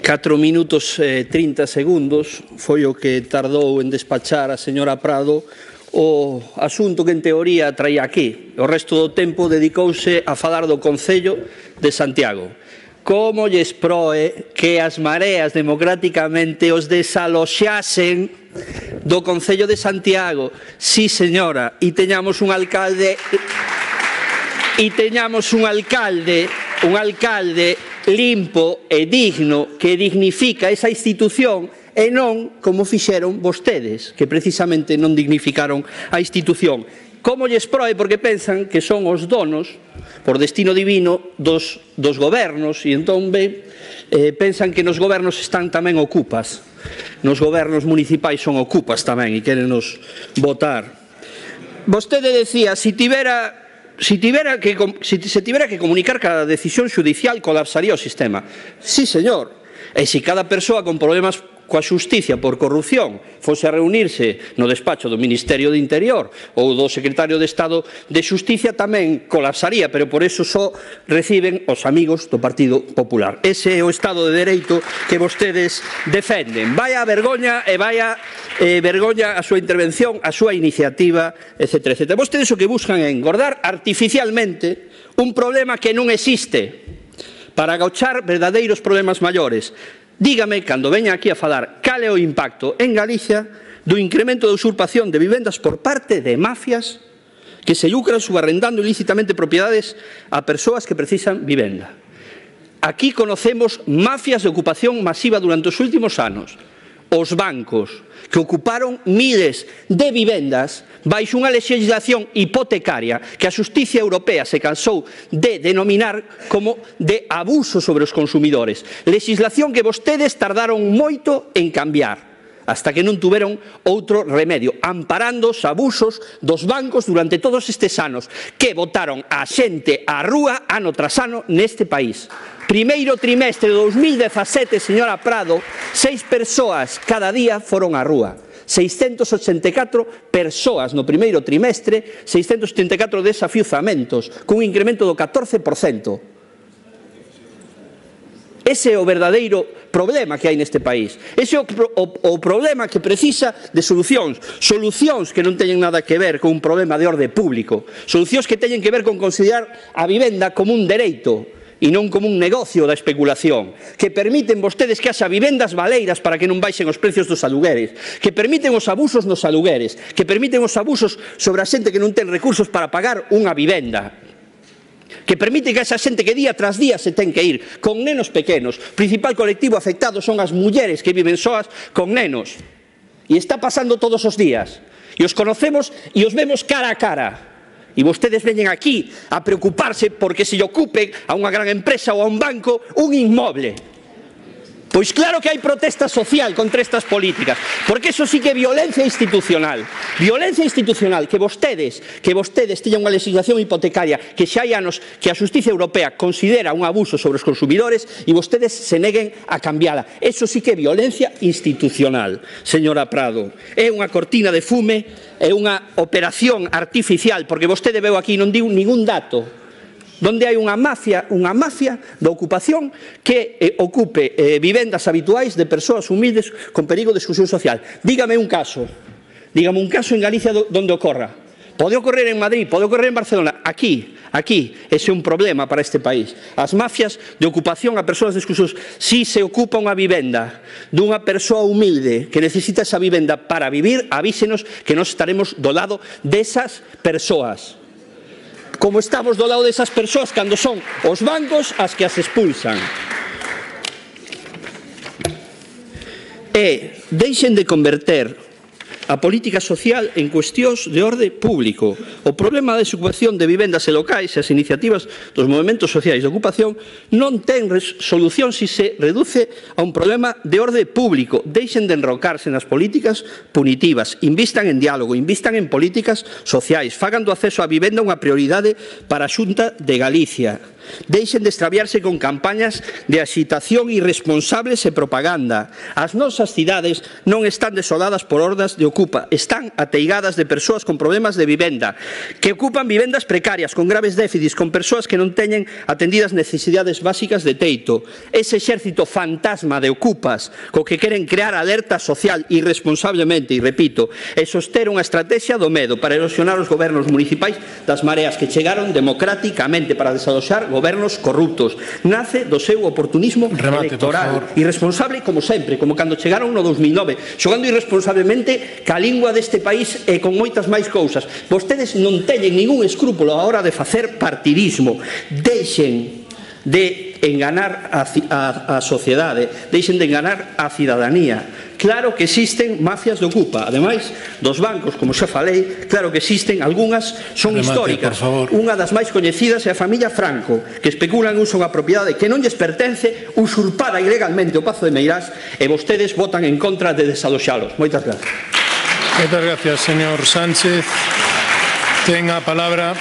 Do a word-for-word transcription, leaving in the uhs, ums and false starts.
catro minutos e trinta segundos foi o que tardou en despachar a señora Prado o asunto que en teoría traía aquí. O resto do tempo dedicouse a falar do Concello de Santiago. Como lles proe que as mareas democráticamente os desaloxasen do Concello de Santiago? Sí, señora, e teñamos un alcalde e teñamos un alcalde un alcalde limpo e digno que dignifica esa institución e non como fixeron vostedes, que precisamente non dignificaron a institución. Como lles proe? Porque pensan que son os donos, por destino divino, dos, dos gobernos, e entón ben, eh, pensan que nos gobernos están tamén ocupas. Nos gobernos municipais son ocupas tamén e queren nos votar. Vostede decía, si tivera... Si, tivera que, si se tivera que comunicar cada decisión judicial colapsaría o sistema. Sí, señor. E se cada persoa con problemas coa xusticia por corrupción fose a reunirse no despacho do Ministerio de Interior ou do Secretario de Estado de Xusticia, tamén colapsaría, pero por eso só reciben os amigos do Partido Popular. Ese é o Estado de Dereito que vostedes defenden. Vaya vergoña e vaya eh, vergoña a súa intervención, a súa iniciativa, etcétera, etcétera. Vostedes o que buscan é engordar artificialmente un problema que non existe para agachar verdadeiros problemas maiores. Dígame, cando veña aquí a falar, cal é o impacto en Galicia do incremento da usurpación de vivendas por parte de mafias que se lucran subarrendando ilícitamente propiedades a persoas que precisan vivenda. Aquí conocemos mafias de ocupación masiva durante os últimos anos. Os bancos que ocuparon miles de vivendas baixo unha legislación hipotecaria que a Xustiza Europea se cansou de denominar como de abuso sobre os consumidores. Legislación que vostedes tardaron moito en cambiar, hasta que non tuveron outro remedio, amparando os abusos dos bancos durante todos estes anos, que botaron a xente á rúa ano tras ano neste país. Primeiro trimestre de dous mil dezasete, señora Prado, seis persoas cada día foron á rúa. seiscentos ochenta e catro persoas no primeiro trimestre, seiscentos setenta e catro desafiuzamentos, cun incremento do catorce por cento. Ese é o verdadeiro problema que hai neste país. Ese é o, o, o problema que precisa de solucións. Solucións que non teñen nada que ver con un problema de orde público. Solucións que teñen que ver con considerar a vivenda como un dereito e non como un negocio da especulación, que permiten vostedes que haxa vivendas baleiras para que non baixen os precios dos alugueres, que permiten os abusos nos alugueres, que permiten os abusos sobre a xente que non ten recursos para pagar unha vivenda, que permite que esa xente que día tras día se ten que ir con nenos pequenos. O principal colectivo afectado son as mulleres que viven soas con nenos, e está pasando todos os días, e os conocemos e os vemos cara a cara. E vostedes veñen aquí a preocuparse porque se lle ocupe a unha gran empresa ou a un banco un inmoble. Pois claro que hai protesta social contra estas políticas, porque eso sí que é violencia institucional. Violencia institucional, que vostedes, que vostedes teñan unha legislación hipotecaria que xa hai anos que a Xustiza Europea considera un abuso sobre os consumidores e vostedes se neguen a cambiala. Eso sí que é violencia institucional, señora Prado. É unha cortina de fume, é unha operación artificial, porque vostede veu aquí non diu ningún dato donde hai unha mafia, unha mafia da ocupación que eh, ocupe eh, vivendas habituais de persoas humildes con perigo de exclusión social. Dígame un caso, dígame un caso en Galicia do, donde ocorra. Pode ocorrer en Madrid, pode ocorrer en Barcelona. Aquí, aquí, ese é un problema para este país. As mafias de ocupación a persoas de exclusión. Si se ocupa unha vivenda dunha persoa humilde que necesita esa vivenda para vivir, avísenos que nos estaremos do lado desas persoas. Como estamos do lado desas persoas cando son os bancos as que as expulsan. E deixen de converter a política social en cuestións de orde público. O problema da desocupación de vivendas e locais e as iniciativas dos movementos sociais de ocupación non ten solución se se reduce a un problema de orde público. Deixen de enrocarse nas políticas punitivas, invistan en diálogo, invistan en políticas sociais, fagan do acceso á vivenda unha prioridade para a Xunta de Galicia. Deixen de extraviarse con campañas de axitación irresponsables e propaganda. As nosas cidades non están desoladas por hordas de ocupa, están ateigadas de persoas con problemas de vivenda, que ocupan vivendas precarias, con graves déficits, con persoas que non teñen atendidas necesidades básicas de teito. Ese exército fantasma de ocupas co que queren crear alerta social irresponsablemente, e repito, e soster unha estrategia do medo para erosionar os gobernos municipais das mareas que chegaron democráticamente para desaloxar gobernos corruptos. Nace do seu oportunismo Remate, electoral, irresponsable como sempre, como cando chegaron no dos mil nove, xogando irresponsablemente ca lingua deste país e con moitas máis cousas. Vostedes non teñen ningún escrúpulo a hora de facer partidismo. Deixen de enganar a, a, a sociedade, deixen de enganar a cidadanía. Claro que existen mafias de ocupa, ademais dos bancos, como xa falei, claro que existen, algunhas son Remate, históricas. Unha das máis coñecidas é a familia Franco, que especulan uso unha propiedade que non lles pertence, usurpada ilegalmente o Pazo de Meirás, e vostedes votan en contra de desaloxalos. Moitas gracias. Moitas gracias, señor Sánchez. Ten a palabra